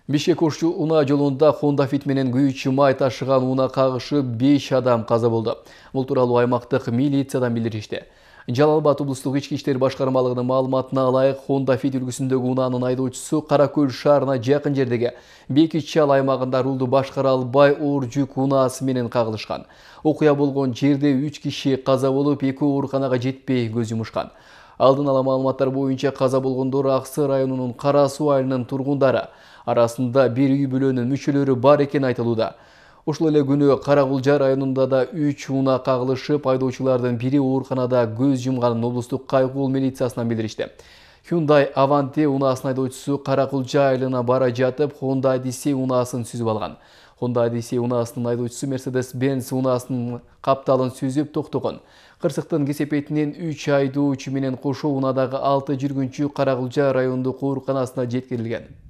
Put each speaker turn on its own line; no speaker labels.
Бишкек-Ош унаа жолунда Honda Fit менен күйүүчү май ташыган унаа кагышып 5 адам каза болду. Бул тууралуу аймактык милициядан билдиришти. Жалал Абад облустук ички иштер башкармалыгынын маалыматына ылайык, Honda Fit үлгүсүндөгү унаанын айдоочусу Кара Көл шаарына жакын жердеги Бекичал аймагында рулду башкара албай оор жүк унаасы менен кагылышкан. Окуя болгон жерде 3 киши каза болуп, 2 ооруканага жетпей көз жумушкан. Алдын ала маалыматтар боюнча каза болгондор Аксы районунун Кара Суу айылынын тургундары. Арасында бир үй бүлөнүн мүчөлөрү бар экени айтылууда. Ошол эле күнү Каракулжа районунда да 3 унаа кагылышып, айдоочулардын бири ооруканада көз жумганын облустук кайгуул милициясынан билдиришти. Hyundai Avanti унаасынын айдоочусу Каракулжа айылына бара жатып, Honda Odyssey унаасын сүзүп алган. Honda Odyssey унаасынын айдоочусу Mercedes-Benz унаасынын капталын сүзүп токтогон. Кырсыктын кесепетинен 3 айдоочу менен кошо унаадагы 6 жүргүнчү Каракулжа райондук ооруканасына жеткирилген.